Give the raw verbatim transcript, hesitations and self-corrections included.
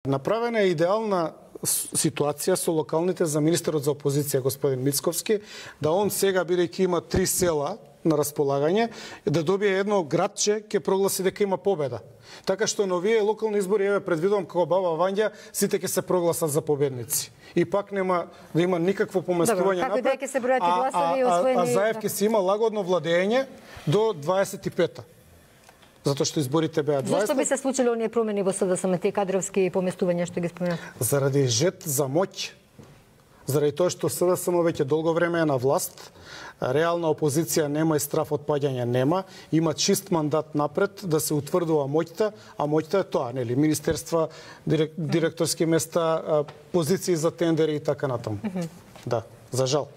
Направена е идеална ситуација со локалните за министерот за опозиција господин Мицковски, да он сега, бидејќи има три села на располагање, да добие едно градче, ќе прогласи дека има победа. Така што на овие локални избори, еве предвидувам како баба Вања, сите ќе се прогласат за победници. И пак нема да има никакво поместување напред. Како да ќе се бројат и гласови и освоени... А, а, а Заев ќе си има лагодно владење до дваесет и пета. Затоа што изборите беа дваесет. Зошто би се случило оние промени во СДСМ, тие кадровски поместувања што ги споменав? Заради жет за моќ. Заради тоа што СДСМ веќе долго време е на власт, реална опозиција нема и страф од паѓање нема, има чист мандат напред да се утврдува моќта, а моќта е тоа, нели, министерства, дирек, директорски места, позиции за тендери и така натаму. Да, за жал.